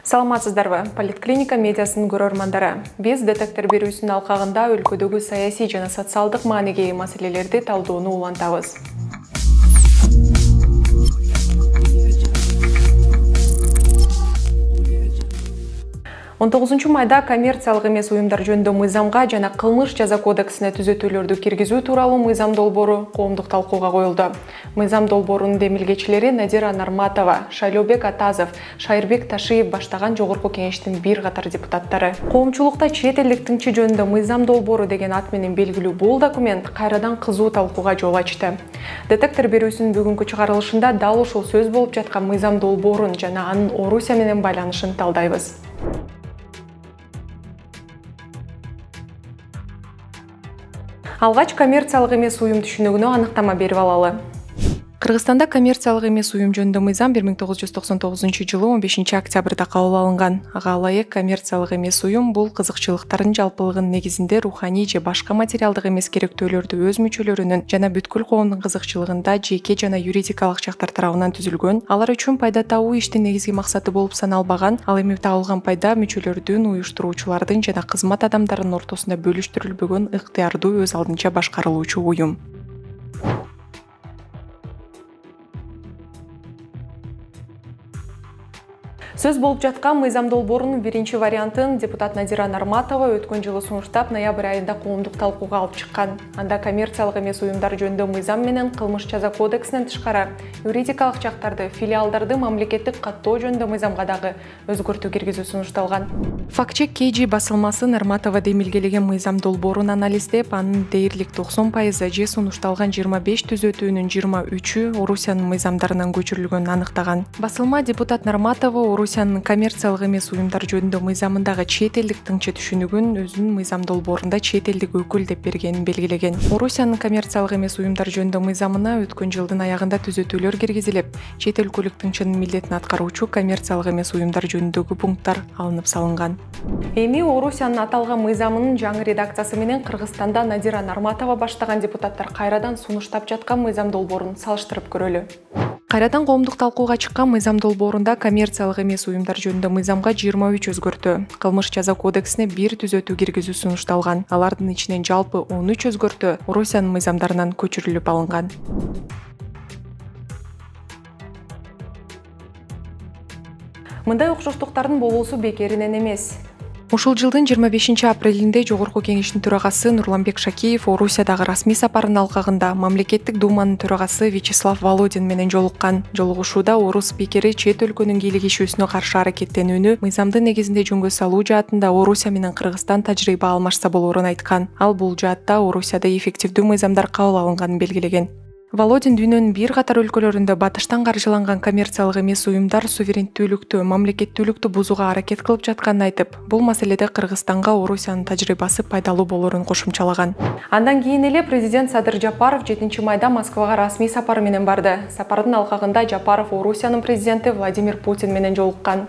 Саламатсыздарбы? Политклиника медиасынын көрөрмандары. Биз детектор берүүсүнүн алкагында өлкөдөгү саясий жана социалдык маанеге ээ маселелерди талдоону улантабыз. 19 майда коммерциялык эмес уюмдар жөнүндө мыйзамга жана кылмыш жаза кодексине түзөтүүлөрдү киргизүү тууралуу мыйзам долбоору коомдук талкууга коюлду. Мыйзам долбоорунун демилгечилери Надира Нарматова, Шайлообек Атазов, Шайырбек Ташиев баштаган жогорку кеңештин бир катар депутаттары. Коомчулукта чет элдик тыңчы жөнүндө мыйзам долбоору деген ат менен белгилүү бул документ кайрадан кызуу талкууга жол ачты. Детектор берүүсүнүн бүгүнкү чыгарылышында дал ушул сөз болуп жаткан мыйзам долбоорун жана анын Орусия менен байланышын талдайбыз. Алгач коммерциялык эмес уюм түшүнүгүнө аныктама берип алалы. Кыргызстанда коммерциялык эмес уюм жөнүндө мыйзам 1999 жылы 15 октябрда кабыл алынган. Ага ылайык коммерциялык эмес уюм бул кызыкчылыктардын жалпылыгынын негизинде руханий же башка материалдык эмес керектөөлөрдү өз мүчөлөрүнүн жана бүткүл коомдун кызыкчылыгында жеке жана юридикалык жактар тарабынан түзүлгөн, алар үчүн пайда табуу иштин негизги максаты болуп саналбаган, ал эми табылган пайда мүчөлөрдүн, уюштуруучулардын жана кызмат адамдарынын ортосунда бөлүштүрүлбөгөн ыктыярдуу өз алдынча башкарылуучу уюм. Сөз болуп жаткан мыйзам долбоорунун биринчи вариантын депутат Надира Нарматова өткөн жылы сунуштап, ноябрь айында коомдук талкууга алып чыккан. Анда коммерциялык эмес уюмдар жөнүндө мыйзам менен кылмыш жаза кодексинен тышкары юридикалык жактарды, филиалдарды мамлекеттик каттоо жөнүндө мыйзамга дагы өзгөртүү киргизүү сунушталган. Фактчек KG басылмасы Нарматова демилгелеген мыйзам долбоорун анализдеп, анын дээрлик 90% же сунушталган 25 түзөтүүнүн 23-ү Орусиянын мыйзамдарынан көчүрүлгөнүн аныктаган. Басылма депутат Нарматова Орусиянын коммерциялык эмес уюмдар жөнүндө мыйзамындагы чет элдик тыңчы түшүнүгүн өзүнүн мыйзам долбоорунда чет элдик өкүл деп бергенин белгилеген. Орусиянын коммерциялык эмес уюмдар жөнүндө мыйзамына өткөн жылдын аягында түзөтүүлөр киргизилип, чет өлкөлүк тыңчынын милдетин аткаруучу коммерциялык эмес уюмдар жөнүндөгү пункттар алынып салынган. Эми Орусиянын аталган мыйзамынын жаңы редакциясы менен Кыргызстанда Надира Нарматова баштаган депутаттар кайрадан сунуштап жаткан мыйзам долбоорун салыштырып көрөлү. Кайрадан коомдук талкууга чыккан мыйзам долбоорунда коммерциялык эмес уюмдар жөнүндө мыйзамга 23 өзгөртүү, кылмыш жаза кодексине 1 түзөтүү киргизүү сунушталган. Алардын ичинен жалпы 13 өзгөртүү Орусиянын мыйзамдарынан көчүрүлүп алынган. Мындай окшоштуктардын болуусу бекеринен эмес. Ушул жылдын 25 апрелинде Жогорку кеңештин төрагасы Нурланбек Шакиев Орусиядагы расмий сапарынын алкагында мамлекеттик думанын төрагасы Вячеслав Володин менен жолуккан. Жолугушууда орус спикери чет өлкөнүн кийлигишүүсүнө каршы аракеттенүүнү мыйзамдын негизинде жөнгө салуу жаатында Орусия менен Кыргызстан тажрыйба алмашса болоорун айткан. Ал бул жаатта Орусияда эффективдүү мыйзамдар кабыл алынганын белгилеген. Володин дүйнөнүн бир катар өлкөлөрүндө батыштан каржыланган коммерциялык эмес уюмдар суверенттүүлүктү, мамлекеттүүлүктү бузууга аракет кылып жатканын айтып, бул маселеде Кыргызстанга Орусиянын тажрыйбасы пайдалуу болоорун кошумчалаган. Андан кийин эле президент Садыр Жапаров 7 майда Москвага расмий сапары менен барды. Сапардын алкагында Жапаров Орусиянын президенти Владимир Путин менен жолуккан.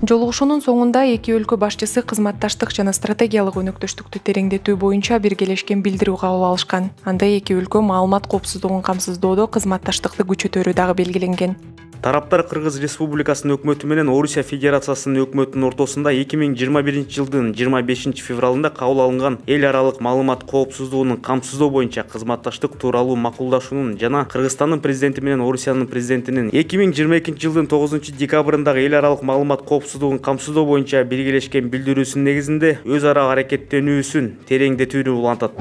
Жолугушуунун соңунда эки өлкө башчысы кызматташтык жана стратегиялык өнөктөштүктү тереңдетүү боюнча биргелешкен билдирүү кабыл алышкан. Анда эки өлкө маалымат коопсуздугун камсыздоодо кызматташтыкты күчөтөрү дагы белгиленген. Тараптар Кыргыз Республикасынын өкмөтү менен Орусия Федерациясынын өкмөтүнүн ортосунда 2021 жылдын 25 февралында кабыл алынган эл аралык маалымат коопсуздугунун камсыздоо боюнча кызматташтык тууралуу макулдашуунун жана Кыргызстандын президенти менен Орусиянын президентинин 2022 жылдын 9 декабрындагы эл аралык маалымат коопсуздугун камсыздоо боюнча биргелешкен билдирүүсүнүн негизинде өз ара аракеттенүүсүн тереңдетүүнү улантат.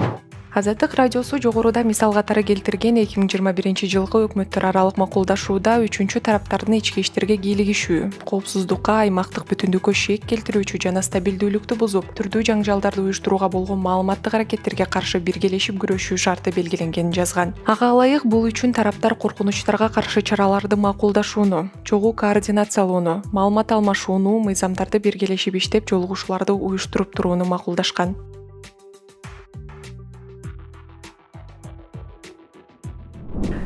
Азаттык радиосу жогоруда мисал катары келтирген 2021 жылкы өкмөттөр аралык макулдашууда үчүнчү тараптардын ички иштерге кийлигишүү, коопсуздукка, аймактык бүтүндүккө шек келтирүүчү жана стабилдүүлүктү бузуп, түрдүү жаңжалдарды уюштурууга болгон маалыматтык аракеттерге каршы биргелешип күрөшүү шарты белгиленгенин жазган. Ага ылайык бул үчүн тараптар коркунучтарга каршы чараларды макулдашууну, чогуу координациялоону, маалымат алмашууну, мыйзамдарды биргелешип иштеп, жолугушууларды уюштуруп турууну макулдашкан.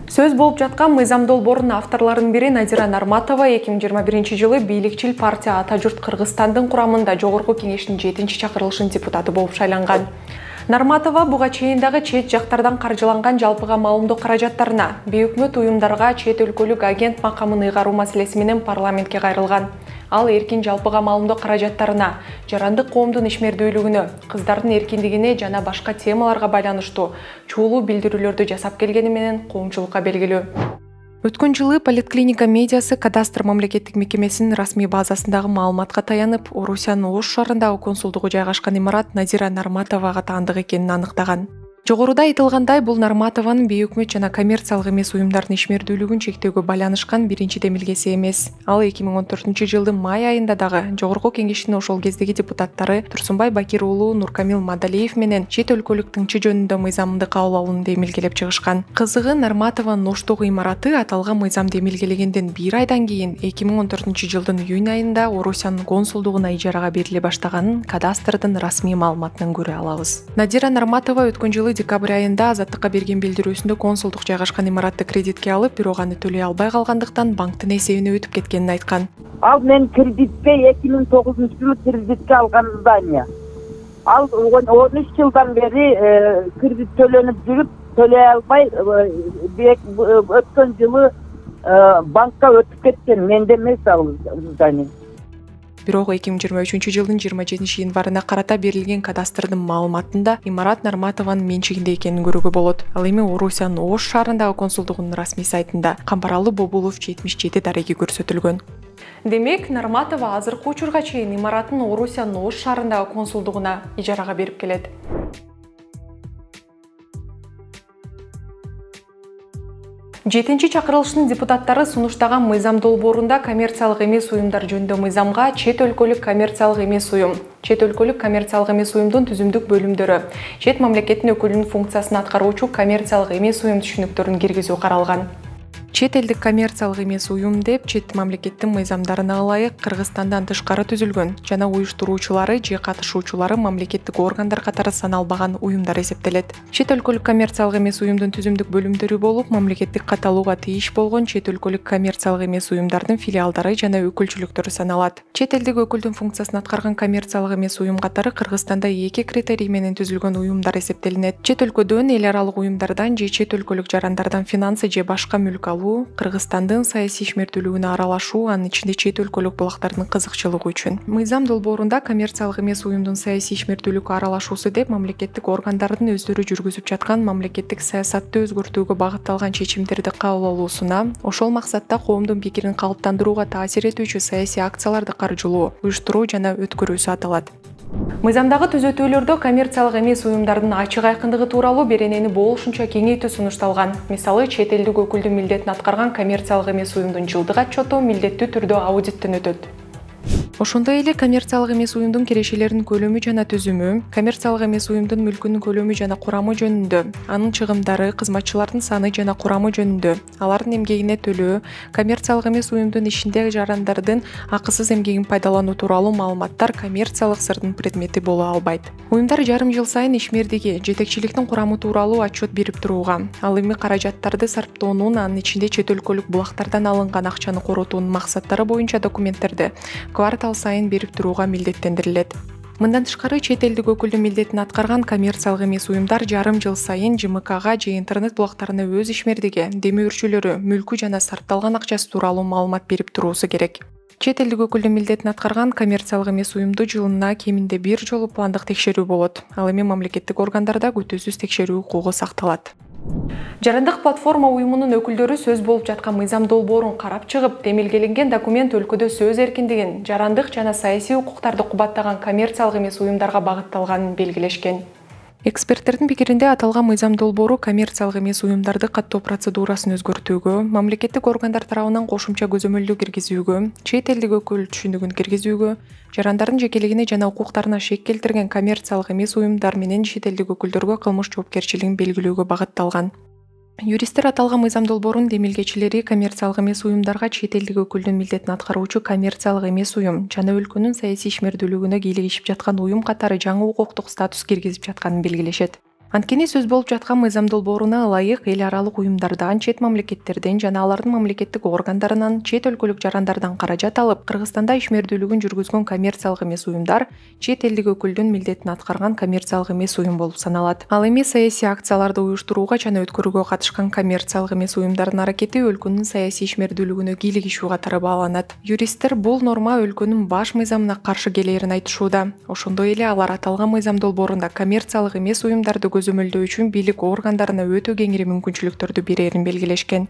Сөз болуп жаткан мыйзам долбоорунун авторлорунун бири Надира Нарматова 2021 жылы бийликчил партия Ата журт Кыргызстандын курамында Жогорку кеңештин 7-чакырылышынын депутаты болуп шайланган. Нарматова буга чейин дагы чет жактардан каржыланган жалпыга маалымдоо каражаттарына, бейөкмөт уюмдарга чет өлкөлүк агент макамын ыйгаруу маселеси менен парламентке кайрылган. Ал эркин жалпыга маалымдоо каражаттарына, жарандык коомдун ишмердүүлүгүнө, кыздардын эркиндигине жана башка темаларга байланыштуу чуулуу билдирүүлөрдү жасап келгени менен коомчулукка белгилүү. Өткөн жылы Поликлиника медиасы кадастр мамлекеттик мекемесинин расмий базасындагы маалыматка таянып, Орусиянын Ош шаарындагы консулдугу жайгашкан имарат Надира Нарматовага таандык экенин аныктаган. Жогоруда айтылгандай, бул Нарматованын бейөкмөт жана коммерциялык эмес уюмдардын ишмердүүлүгүн чектөөгө байланышкан биринчи демилгеси эмес. Ал 2014-жылдын май айында дагы Жогорку Кеңештин ошол кездеги депутаттары Турсунбай Бакир уулу Нуркамил Мадалиев менен чет өлкөлүк тыңчы жөнүндө мыйзамды кабыл алууну демилгелеп чыгышкан. Кызыгы, Нарматованын Оштогу имараты аталган мыйзам демилгелегенден 1 айдан кийин 2014-жылдын июнь айында Орусиянын консулдугуна ижарага бериле баштаганын кадастрдын расмий маалыматынан көрө алабыз. Надира Нарматова өткөн жылы декабрь айында Азаттыкка берген билдирүүсүндө консулдук жайгашкан имаратты кредитке алып, бирок аны төлөй албай калгандыктан банктын эсебине өтүп кеткенин айткан. Ал мен кредитке 2009-жылы кредитке алган здание. Ал 13 жылдан бери кредит төлөнүп жүрүп, төлөй албай өткөн жылы банкка өтүп кеткен. Менде эмес ал здание. Бирок 2023-жылдын 27-январына карата берилген кадастрдын маалыматында имарат Нарматованын менчигинде экенин көрүүгө болот. Ал эми Орусиянын Ош шаарындагы консулдугунун расмий сайтында Камбаралы Бобулов 77 дареги көрсөтүлгөн. Демек, Нарматова азыркы учурга чейин имаратын Орусиянын Ош шаарындагы консулдугуна ижарага берип келет. 7-чи чакырылыштын депутаттары сунуштаган мыйзам долбоорунда коммерциялык эмес уюмдар жөнүндө мыйзамга чет өлкөлүк коммерциялык эмес уюм, чет өлкөлүк коммерциялык эмес уюмдун түзүмдүк бөлүмдөрү, чет мамлекеттин өкүлүнүн функциясын аткаруучу коммерциялык эмес уюм түшүнүктөрүн киргизүү каралган. Чет элдик коммерциялык эмес уюм деп чет мамлекеттин мыйзамдарына ылайык Кыргызстандан тышкары түзүлгөн жана уюштуруучулары же катышуучулары мамлекеттик органдар катары саналбаган уюмдар эсептелет. Чет өлкөлүк коммерциялык эмес уюмдун түзүмдүк бөлүмдөрү болуп, мамлекеттик катталууга тийиш болгон чет өлкөлүк коммерциялык эмес уюмдардын филиалдары жана өкүлчүлүктөрү саналат. Чет элдик өкүлдүн функциясын аткарган коммерциялык эмес уюм катары Кыргызстанда 2 критерий менен түзүлгөн уюмдар эсептелинет. Чет өлкөдөн эл аралык уюмдардан же чет өлкөлүк жарандардан финансы же башка мүлк алуу, Кыргызстандын саясий ишмердүүлүгүнө аралашуу, анын ичинде чет өлкөлүк булактардын кызыкчылыгы үчүн. Мыйзам долбоорунда коммерциялык эмес уюмдун саясий ишмердүүлүккө аралашуусу деп мамлекеттик органдардын өздөрү жүргүзүп жаткан мамлекеттик саясатты өзгөртүүгө багытталган чечимдерди кабыл алуусуна, ошол максатта коомдун пикирин калыптандырууга таасир этүүчү саясий акцияларды каржылоо, уюштуруу жана өткөрүүсү аталат. Мыйзамдагы түзөтүүлөрдө коммерциялык эмес уюмдардын ачык айкындыгы тууралуу беренени болушунча кеңейтүү сунушталган. Мисалы, чет элдик өкүлдүн милдетин аткарган коммерциялык эмес уюмдун жылдык отчету милдеттүү түрдө аудиттен өтөт. Ошондой эле коммерциялык эмес уюмдун кирешелеринин көлөмү жана түзүмү, коммерциялык эмес уюмдун мүлкүнүн көлөмү жана курамы жөнүндө, анын чыгымдары, кызматчылардын саны жана курамы жөнүндө, алардын эмгегине төлөө, коммерциялык эмес уюмдун ишинде жарандардын акысыз эмгегин пайдалануу тууралуу маалыматтар коммерциялык сырдын предмети боло албайт. Уюмдар жарым жыл сайын ишмердиги, жетекчиликтин курамы тууралуу отчет берип турууга, ал эми каражаттарды сарптоонун, анын ичинде чет өлкөлүк булактардан алынган акчаны коротуунун максаттары боюнча документтерди квартал сайын берип турууга милдеттендирилет. Мындан тышкары, чет элдик өкүлдүн милдетин аткарган коммерциялык эмес уюмдар жарым жыл сайын ЖМКга же интернет булактарына өз ишмердиги, демөөрчүлөрү, мүлкү жана сарпталган акчасы тууралуу маалымат берип туруусу керек. Чет элдик өкүлдүн милдетин аткарган коммерциялык эмес уюмду жылына кеминде 1 жолу пландык текшерүү болот. Ал эми мамлекеттик органдарда күтүүсүз текшерүү укугу сакталат. Жарандык платформа уюмунун өкүлдөрү сөз болуп жаткан мыйзам долбоорун карап чыгып, демилгеленген документ өлкөдө сөз эркиндигин, жарандык жана саясий укуктарды кубаттаган коммерциялык эмес уюмдарга багытталганын белгилешкен. Эксперттердин пикиринде аталган мыйзам долбоору коммерциялык эмес уюмдарды каттоо процедурасын өзгөртүүгө, мамлекеттик органдар тарабынан кошумча көзөмөлдүү киргизүүгө, чет элдик өкүл түшүнүгүн киргизүүгө, жарандардын жекелигине жана укуктарына шек келтирген коммерциялык эмес уюмдар менен чет элдик өкүлдөргө кылмыш жоопкерчилигин белгилөөгө багытталган. Юристтер аталган мыйзам долбоорунун демилгечилери коммерциялык эмес уюмдарга чет элдик өкүлдүн милдетин аткаруучу коммерциялык эмес уюм жана өлкөнүн саясий ишмердүүлүгүнө кийлигишип жаткан уюм катары жаңы укуктук статус киргизип жатканын белгилешет. Анткени сөз болуп жаткан мыйзам долбооруна ылайык эл аралык уюмдардан, чет мамлекеттерден жана алардын мамлекеттик органдарынан, чет өлкөлүк жарандардан каражат алып, Кыргызстанда ишмердүүлүгүн жүргүзгөн коммерциялык эмес уюмдар чет элдик өкүлдүн милдетин аткарган коммерциялык эмес уюм болуп саналат. Ал эми саясий акцияларды уюштурууга жана өткөрүүгө катышкан коммерциялык эмес уюмдардын аракети өлкөнүн саясий ишмердүүлүгүнө кийлигишүү катары бааланат. Юристтер бул норма өлкөнүн баш мыйзамына каршы келээрин айтышууда. Ошондой эле алар аталган мыйзам долбоорунда коммерциялык эмес уюмдарды көзөмөлдөө үчүн бийлик органдарына өтө кеңири мүмкүнчүлүктөрдү берерин белгилешкен.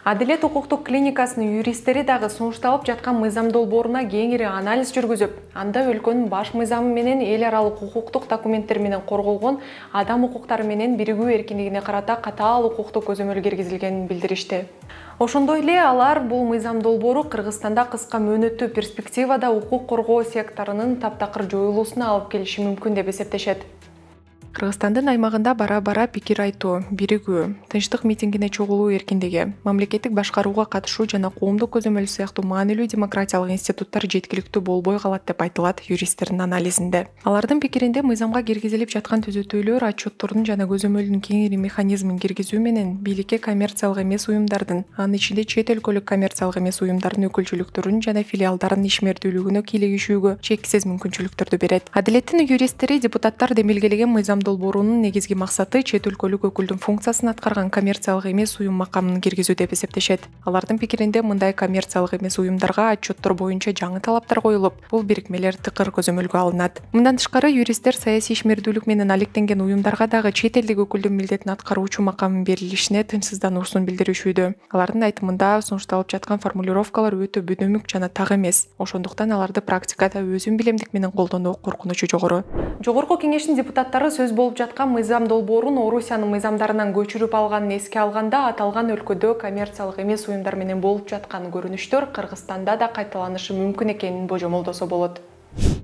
Адилет укуктук клиникасынын юристтери дагы сунушталып жаткан мыйзам долбооруна кеңири анализ жүргүзүп, анда өлкөнүн баш мыйзамы менен эл аралык укуктук документтер менен корголгон адам укуктары менен биригүү эркиндигине карата катаал укуктук көзөмөл киргизилгенин билдиришти. Ошондой эле алар бул мыйзам долбоору Кыргызстанда кыска мөөнөттүү перспективада укук коргоо секторунун таптакыр жоюлуусуна алып келиши мүмкүн деп эсептешет. Кыргызстандын аймагында бара-бара пикир айтуу, биригүү, тынчтык митингине чогулуу эркиндиги, мамлекеттик башкарууга катышуу жана коомдук көзөмөл сыяктуу маанилүү демократиялык институттар жеткиликтүү болбой калат деп айтылат юристтердин анализинде. Алардын пикиринде мыйзамга киргизилип жаткан түзөтүүлөр отчеттордун жана көзөмөлдүн кеңири механизмин киргизүү менен бийликке коммерциялык эмес уюмдардын, анын ичинде чет өлкөлүк коммерциялык эмес уюмдардын өкүлчүлүктөрүнүн жана филиалдарынын ишмердүүлүгүнө кийлигишүүгө чексиз мүмкүнчүлүктөрдү берет. Адилеттин юристтери депутаттар демилгелеген мыйзам долбоорунун негизги максаты чет өлкөлүк өкүлдүн функциясын аткарган коммерциялык эмес уюм макамын киргизүү деп эсептешет. Алардын пикиринде мындай коммерциялык эмес уюмдарга отчеттор боюнча жаңы талаптар коюлуп, бул бирикмелер тыкыр көзөмөлгө алынат. Мындан тышкары юристтер саясий ишмердүүлүк менен алектенген уюмдарга дагы чет элдик өкүлдүн милдетин аткаруучу макамын берилишине тынчсыздануусун билдиришүүдө. Алардын айтымында сунушталып жаткан формулировкалар өтө бүнөмүк жана так эмес. Ошондуктан аларды практикада өзүн билемдик менен колдонуу коркунучу жогору. Жогорку кеңештин депутаттары сөз болуп жаткан мыйзам долбоорун Орусиянын мыйзамдарынан көчүрүп алганын эске алганда, аталган өлкөдө коммерциялык эмес уюмдар менен болуп жаткан көрүнүштөр Кыргызстанда да кайталанышы мүмкүн экенин божомолдосо болот.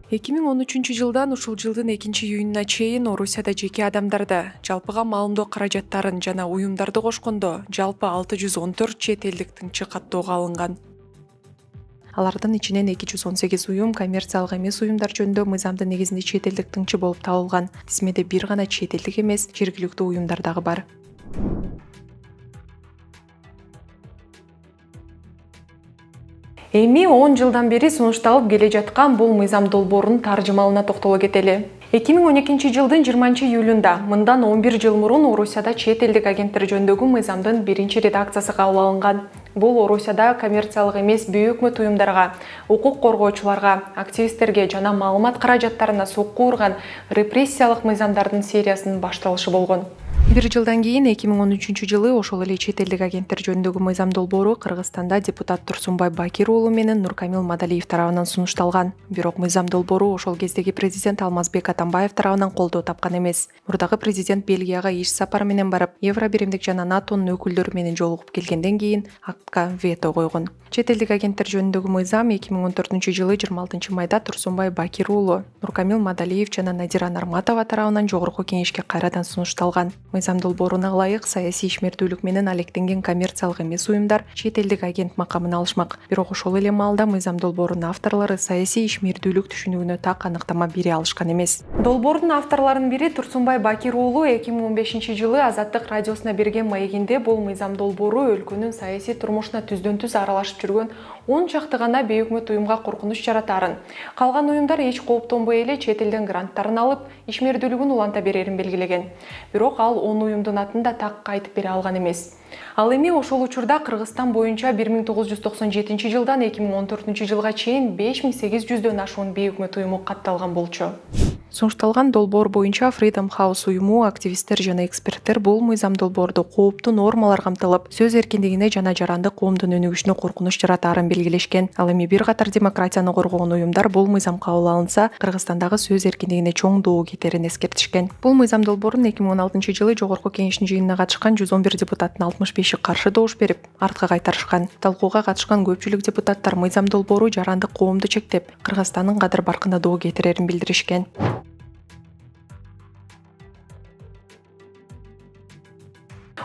2013 жылдан ушул жылдын 2-июнуна чейин Орусияда жеке адамдарды, жалпыга маалымдоо каражаттарын жана уюмдарды кошкондо жалпы 614 чет элдик тыңчы каттоого алынган. Алардын ичинен 218 уюм коммерциялык эмес уюмдар жөнүндө мыйзамдын негизинде чет элдик тыңчы болуп табылган. Тизмеде бир гана чет элдик эмес, жергиликтүү уюмдар дагы бар. Эми 10 жылдан бери сунушталып келе жаткан бул мыйзам долбоорунун таржымалына токтоло кетели. 2012 жылдын 20 июлунда, мындан 11 жыл мурун Орусияда чет элдик агенттер жөнүндөгү мыйзамдын биринчи редакциясы кабыл алынган. Бул Орусияда коммерциялык эмес бейөкмөт уюмдарга, укук коргоочуларга, активисттерге жана маалымат каражаттарына сокку урган репрессиялык мыйзамдардын сериясынын башталышы болгон. Бир жылдан кийин 2013 жылы ошол эле чет элдик агенттер жөнүндөгү мыйзам долбоору Кыргызстанда депутат Турсунбай Бакир уулу менен Нуркамил Мадалиев тарабынан сунушталган. Бирок мыйзам долбоору ошол кездеги президент Алмазбек Атамбаев тарабынан колдоо тапкан эмес. Мурдагы президент Бельгияга иш сапары менен барып, Евро биримдик жана НАТОнун өкүлдөрү менен жолугуп келгенден кийин актка вето койгон. Чет элдик агенттер жөнүндөгү мыйзам 2014 жылы 26 майда Турсунбай Бакир уулу, Нуркамил Мадалиев жана Надира Нарматова тарабынан жогорку кеңешке кайрадан сунушталган. Мыйзам долбооруна ылайык саясий ишмердүүлүк менен алектенген коммерциялык эмес уюмдар чет элдик агент макамын алышмак. Бирок ошол эле маалда мыйзам долбоорунун авторлору саясий ишмердүүлүк түшүнүгүнө так аныктама бере алышкан эмес. Долбоордун авторлорунун бири Турсунбай Бакир уулу 2015 жылы Азаттык радиосуна берген маегинде бул мыйзам долбоору өлкөнүн саясий турмушуна түздөн-түз аралашып жүргөн 10 чакты гана бейөкмөт уюмга коркунуч жаратарын, калган уюмдар эч кооптонбой эле чет элден гранттарын алып, ишмердүүлүгүн уланта берерин белгилеген. Бирок ал 10 уюмдун атын да так айтып бере алган эмес. Ал эми ошол учурда Кыргызстан боюнча 1997 жылдан 2014 жылга чейин 5800дөн ашуун бейөкмөт уюму катталган болчу. Сунушталган долбоор боюнча Freedom House уюму, активисттер жана эксперттер бул мыйзам долбоордо кооптуу нормалар камтылып, сөз эркиндигине жана жарандык коомдун өнүгүшүнө коркунуч жаратаарын белгилешкен. Ал эми бир катар демократияны коргогон уюмдар бул мыйзам кабыл алынса, Кыргызстандагы сөз эркиндигине чоң доо кетерин эскертишкен. Бул мыйзам долбоорун 2016 жылы жогорку кеңештин жыйынына катышкан 111 депутаттын 65-и каршы добуш берип, артка кайтарышкан. Талкууга катышкан көпчүлүк депутаттар мыйзам долбоору жарандык коомду чектеп, Кыргызстандын кадыр баркына доо кетирерин билдиришкен.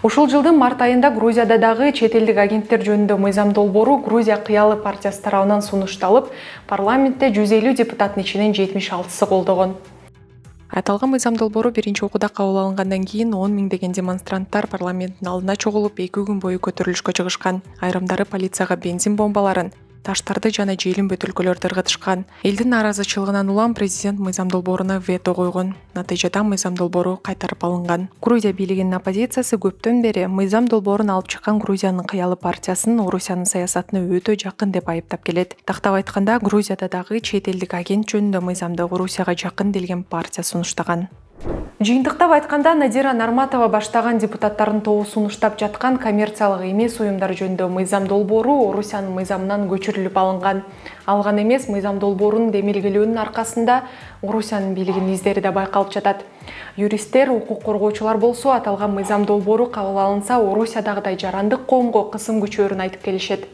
Ушул жылдын март айында Грузияда дагы чет элдик агенттер жөнүндө мыйзам долбоору Грузия кыялы партиясы тарабынан сунушталып, парламентте 150 депутаттын ичинен 76-сы колдогон. Аталган мыйзам долбоору биринчи окууда кабыл алынгандан кийин 10 миңдеген демонстранттар парламенттин алдына чогулуп 2 күн бою көтөрүлүшкө чыгышкан. Айрымдары полицияга бензин бомбаларын, таштарды жана желим бөтөлкөлөрдү ыргытышкан. Элдин нааразычылыгынан улам президент мыйзам долбооруна вето койгон. Натыйжада мыйзам долбоору кайтарып алынган. Грузия бийлигинин оппозициясы көптөн бери мыйзам долбоорун алып чыккан Грузиянын кыялы партиясын Орусиянын саясатына өтө жакын деп айыптап келет. Тактап айтканда, Грузияда дагы чет элдик агент жөнүндө мыйзамды Орусияга жакын делген партия сунуштаган. Жыйынтыктап айтканда, Надира Нарматова баштаган депутаттардын тобу сунуштап жаткан коммерциялык эмес уюмдар жөнүндө мыйзам долбоору Орусиянын мыйзамынан көчүрүлүп алынган. Алган эмес мыйзам долбоорунун демилгелөөнүн аркасында Орусиянын бийлигинин издери да байкалып жатат. Юристтер, укук коргоочулар болсо, аталган мыйзам долбоору кабыл алынса, Орусиядагыдай жарандык коомго кысым күчөөрүн айтып келишет.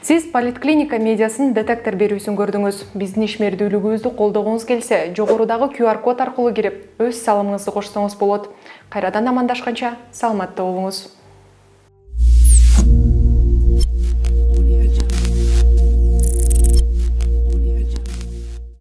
Сиз Политклиника медиасын детектор берүүсүн көрдүңүз. Биздин ишмердүүлүгүбүздү колдогуңуз келсе, жогорудагы QR код аркылуу кирип, өз салымыңызды кошсоңуз болот. Кайрадан амандашканча, саламатта болуңуз.